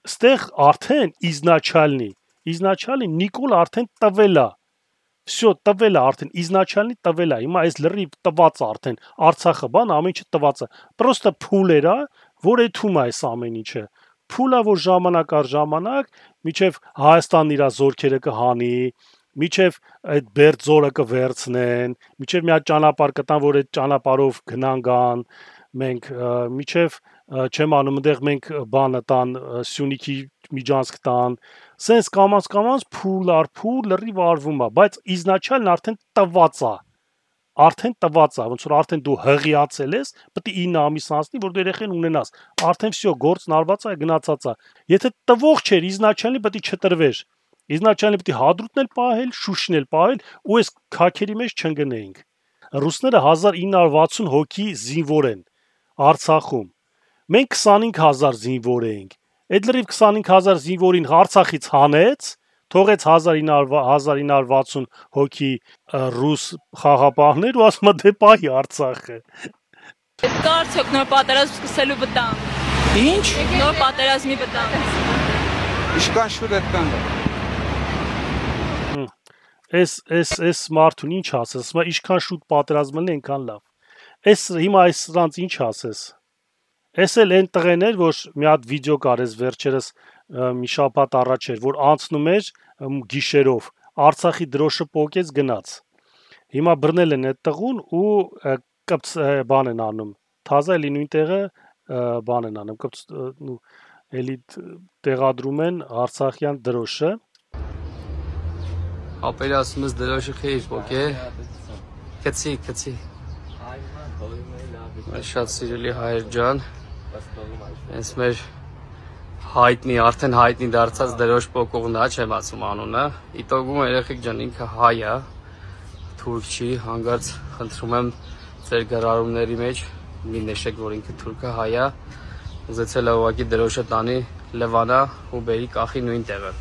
Ստեղ արդեն իզնաչալնի Նիկոլ արդեն տվել է։ Всё տվել է արդեն իզնաչալնի տվել է։ Հիմա այս լրիվ տված է արդեն Արցախը բան ամեն ինչը տված է։ Պրոստը փուլ era, որ էթում է այս ամեն ինչը։ Փուլա որ ժամանակ առ ժամանակ միջև Հայաստանն իր զորքերը կհանի, միջև այդ Բերձորը կվերցնեն, միջև մի հատ ճանապարհ կտան, որ այդ ճանապարհով գնան գան, մենք միջև չեմ անում այնտեղ մենք բանը տան Սյունիքի միջանցք տան, սենց կամած փուլ առ փուլ լրիվ արվում է, բայց իզնաչալն արդեն տված է, ոնց որ արդեն դու հղիացել ես, պետք է 9 ամիս անցնի, որ դու երեխեն ունենաս, արդեն всё գործն արված է, գնացած է։ Եթե տվող չէր իզնաչալնի պետք է չտրվեր։ Իզնաչալնի պետք է Հադրութն էլ պահել, Շուշին էլ պահել ու այս քաքերի մեջ չընկնեինք։ Ռուսները 1960 հոգի զինվոր են Արցախում։ Մենք 25000 զինվոր էինք։ Այդ լրիվ 25000 զինվորին Արցախից հանեց, թողեց 1960 հոգի ռուս խաղապահներ ու ասում է դե պահի Արցախը։ Կա արդյոք նոր պատերազմ սկսելու վտանգ։ Ինչ? Նոր պատերազմի վտանգ։ Իշքան շուտ է կան։ Այս մարդուն ինչ ասես, մա ինչքան շուտ պատերազմն է, այնքան լավ։ Հիմա այս սրանց ինչ ասես։ Էս էլ այն տղեն էր, որ մի հատ վիդեո կարես վերջերս մի շաբաթ առաջ էր, որ անցնում էր գիշերով, Արցախի դրոշը պոկեց գնաց։ Հիմա բռնել են այդ տղուն ու բան են անում։ Թազա էլի նույն տեղը բան են անում, էլի տեղադրում են Արցախյան դրոշը։ Ապերասումս դրոշը խեիր պոկե։ Քցի։ Շատ սիրելի հայր ջան, այս մեր հայտնի, արդեն հայտնի դարձած դրոշ պոկողն է, չեմ ասում անունը։ Իտոգում երեխեք ջան, ինքը հայ է, թուրք չի, հանգարց խնդրում եմ ձեր գրառումների մեջ մի նշեք, որ ինքը թուրքը հայ է, ուզեցել է ուղղակի դրոշը տանի Լևանա ու բերի կախի նույն տեղը։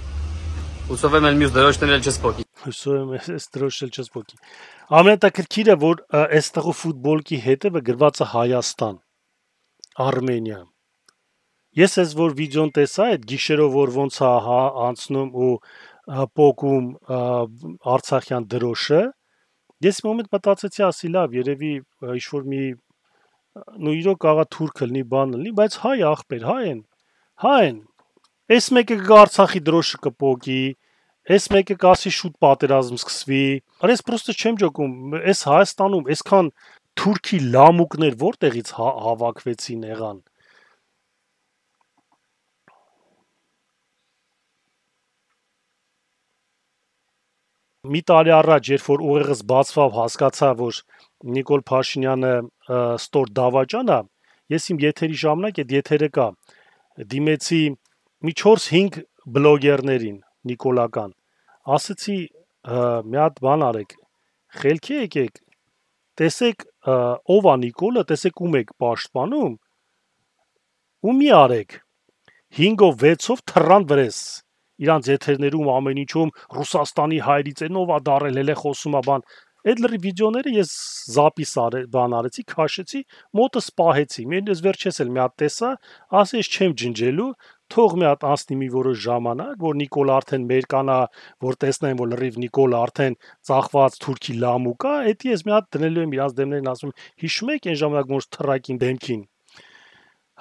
Հուսով եմ մյուս դրոշներն էլ չսպոկի։ Հուսով եմ այս դրոշը չսպոկի։ Ամենատակրքիրը, որ այստեղու ֆուտբոլկի հետևը գրված է Հայաստան, Արմենիա։ Ես այս որ վիդեոն տեսա, այդ գիշերով որ ոնց է անցնում ու պոկում Արցախյան դրոշը, ես մի մոմենտ մտածեցի, ասի լավ, երևի ինչ-որ մի իրոք կարա թուրք լինի, բան լինի, բայց հայ ախպեր, հայ են։ Այս մեկը կգա Արցախի դրոշը կպոկի, այս մեկը կասի շուտ պատերազմ սկսվի։ Արես պրոստը չեմ ջոկում, այս Հայաստանում այսքան թուրքի լամուկներ որտեղից հավաքվեցին եղան։ Մի տարի առաջ, երբ որ ուղեղս բացվավ, հասկացա, որ Նիկոլ Փաշինյանը ստոր դավաճան է, ես իմ եթերի ժամանակ այդ եթերը կա, դիմեցի մի 4-5 բլոգերներին նիկոլական, ասացի մի հատ բան արեք, խելքի եկեք, տեսեք ով է Նիկոլը, տեսեք ում եք պաշտպանում, ու մի արեք, 5-ով 6-ով թռան վրես, իրանց եթերներում ամեն ինչում Ռուսաստանի հայրից այնով է դարել, հելե խոսում է բան, այդ լրի վիդեոները ես զապիս բան արեցի, քաշեցի, մոտս պահեցի, ես վերջես էլ մի հատ տեսա, ասի ես չեմ ջնջելու, թող մի հատ անցնի մի որոշ ժամանակ, որ Նիկոլ արդեն մեր կանա, որ տեսնեն, որ լրիվ Նիկոլ արդեն ծախված թուրքի լամուկ է, էդի ես մի հատ դնելու եմ իրանց դեմներին, ասում հիշում եք այն ժամանակ որ թռակին դեմքին։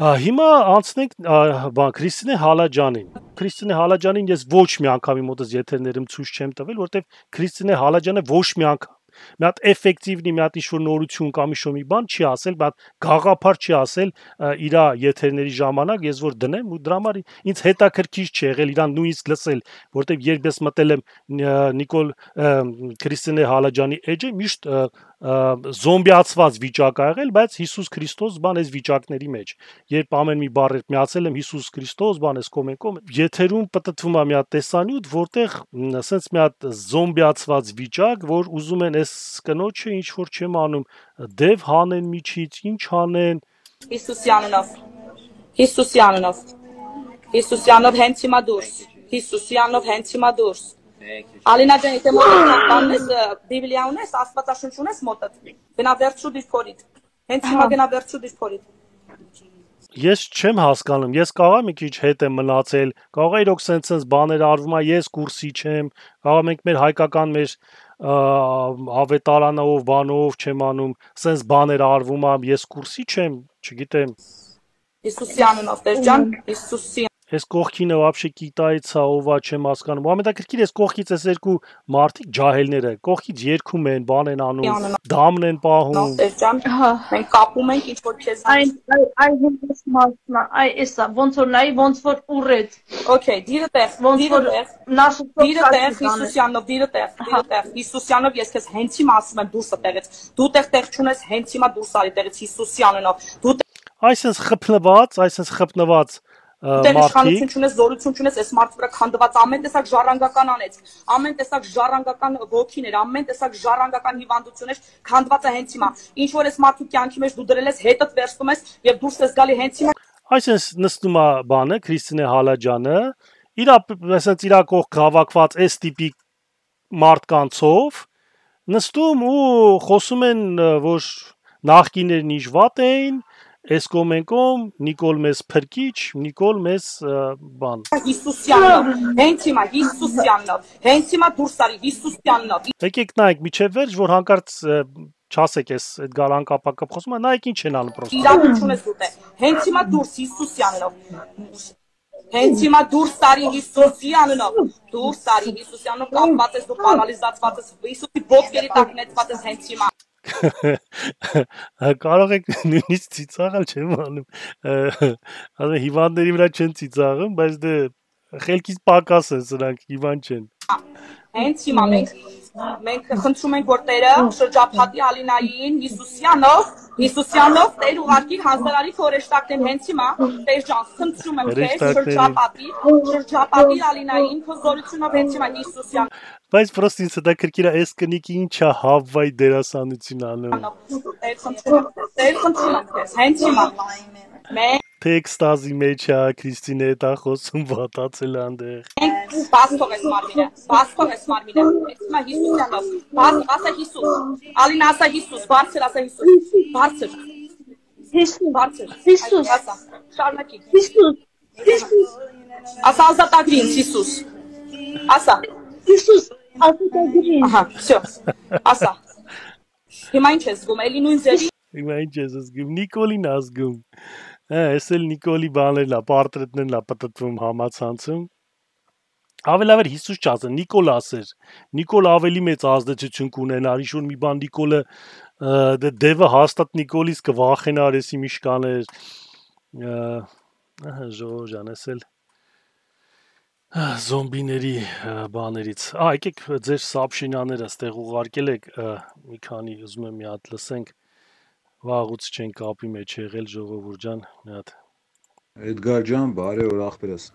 Հիմա անցնենք Քրիստինե Հալաջանին։ Քրիստինե Հալաջանին ես ոչ մի անգամ իմ մոտս եթերներում ցույց չեմ տվել, որտեվ Քրիստինե Հալաջանը ոչ մի անգամ մի հատ էֆեկտիվնի մի հատ ինչ-որ նորություն կամ ինչ-որ մի բան չի ասել, բայց գաղափար չի ասել իր եթերների ժամանակ, ես որ դնեմ ու դրա համար ինձ հետաքրքիր չի եղել իրան նույնիսկ լսել, որտեվ երբ ես մտել եմ Նիկոլ Քրիստինե Հալաջանի էջը միշտ զոմբիացված վիճակ ա եղել, բայց Հիսուս Քրիստոս բան այս վիճակների մեջ։ Երբ ամեն մի բառ միացել եմ Հիսուս Քրիստոս, բան էս կոմենկոմ, եթերում պտտվում է մի հատ տեսանյութ, որտեղ ասենց մի հատ զոմբիացված վիճակ, որ ուզում են այս կնոջը ինչ որ չեմ անում, դև հանեն միջից, ինչ հանեն։ Հիսուսյանով հենց հիմա դուրս։ Հիսուսյանով հենց հիմա դուրս։ Ալինա ջան, եթե մոտդ կանես Բիբլիա ունես, Աստվածաշունչ ունես մոտդ։ Գնա վերցու դիր փորիդ։ Հենց հիմա գնա վերցու դիր փորիդ։ Ես չեմ հասկանում, ես կարող եմ մի քիչ հետ եմ մնացել, կարող է իրոք սենց բաներ արվում է, ես կուրսի չեմ, կարող մենք մեր հայկական մեր ավետարանով, բանով չեմ անում, սենց բաներ արվում է, ես կուրսի չեմ, չգիտեմ։ Հիսուսի անունով, Տեր ջան, Հիսուսի Ես կողքինը вообще կիտայցա ովա չեմ հասկանում։ Ամենաքրքիր ես կողքից այս երկու մարդիկ ջահելները, կողքից երգում են, բան են անում, դամն են պահում։ Տեր ջան, մենք կապում ենք ինչ որ քեզ Ay hենց մասնա, ay էսա, ոնց որ նայի, ոնց որ ուռեց։ Okay, դիրը տեղ, Ոնց որ նասուտով դիրը տեղ, Հիսուսյանով, դիրը տեղ, Հիսուսյանով ես քեզ հենց հիմա ասում եմ դուրս տեղից։ Դու տեղ չունես, հենց հիմա դուրս արի տեղից Հիսուսի անունով։ Դու Այսինքն խփնված Դեր մարդիկ իշխանություն չունես, զորություն չունես, այս մարդու վրա քանդված ամեն տեսակ ժառանգական անեց, ամեն տեսակ ժառանգական ոգիներ, ամեն տեսակ ժառանգական հիվանդություններ քանդված է հենց հիմա։ Ինչ որ այս մարդու կյանքի մեջ դու դրել ես, հետդ վերցնում ես եւ դուրս ես գալի հենց հիմա։ Այսինքն նստում է բանը Քրիստինե Հալաջյանը, իր կողք հավաքված այս տիպի մարդկանցով նստում ու խոսում են, որ նախկիներն ինչ վատ էին, այս կոմենկոմ Նիկոլ մեզ փրկիչ, Նիկոլ մեզ բան։ Հիսուսյանով, հենց հիմա Հիսուսյանով, հենց հիմա դուրս արի Հիսուսյանով։ Եկեք նայեք միջև վերջ, որ հանկարծ չասեք էս այդ գալան կապակը խոսում է, նայեք ինչ են անում պրոստը։ Իրավունք չունես դու տեղ։ Հենց հիմա դուրս Հիսուսյանով։ Հենց հիմա դուրս տարի Հիսուսի անունով, դուրս տարի Հիսուսյանով կապված ես դու պարալիզացված ես, Հիսուսի ոտքերի տակ նետված ես հենց հիմա։ Կարող եք նույնիսկ ծիծաղալ չեմ անում։ Ասում հիվանդների վրա չեն ծիծաղում, բայց դե խելքից պակաս են սրանք, հիվանդ չեն։ Հենց հիմա մենք խնդրում ենք որ Տերը շրջափակի Ալինային Հիսուսյանով Տեր ուղարկի հանձնարարի քորեշտակներին հենց հիմա Տեր ջան խնդրում եմ քեզ շրջափակի Ալինային քո զորությունով հենց հիմա Հիսուսյան Բայց պրոստը ինձ դա քրքիրա էս կնիկի ինչա հավվայ դերասանություն անում։ Տեր խնդրում եմ քեզ հենց հիմա Տեքստազի մեջ է Քրիստինե դա խոսում վատացել անդեղ։ Բաց թող ես մարմինը, հիմա Հիսուսյանով, ասա Հիսուս, Ալինա ասա Հիսուս, բարձր ասա Հիսուս, բարձր, Հիսուս, ասա, շարունակի, Հիսուս, ասա ազատագրի ինձ Հիսուս, ասա, Հիսուս, ազատագրի, ահա, всё, ասա, հիմա ինչ ես զգում, էլի նույն ձևի, Հիմա ինչ ես զգում, Նիկոլին ազգում, ես էլ Նիկոլի բաներն է, պարտրետներն է պտտվում համացանցում, Ավելի լավ էր Հիսուս չասեն, Նիկոլ ասեր, Նիկոլ ավելի մեծ ազդեցություն կունենար, ինչ-որ մի բան Նիկոլը, դևը հաստատ Նիկոլից կվախենար, եսի ինչ կաներ, ժողով ջան, ես էլ զոմբիների բաներից, եկեք ձեր սաբշինաները ստեղ ուղարկել եք, մի քանի ուզում եմ մի հատ լսենք, վաղուց չեն կապի մեջ եղել ժողովուրդ ջան, մի հատ Էդգար ջան, բարի օր ախպերս։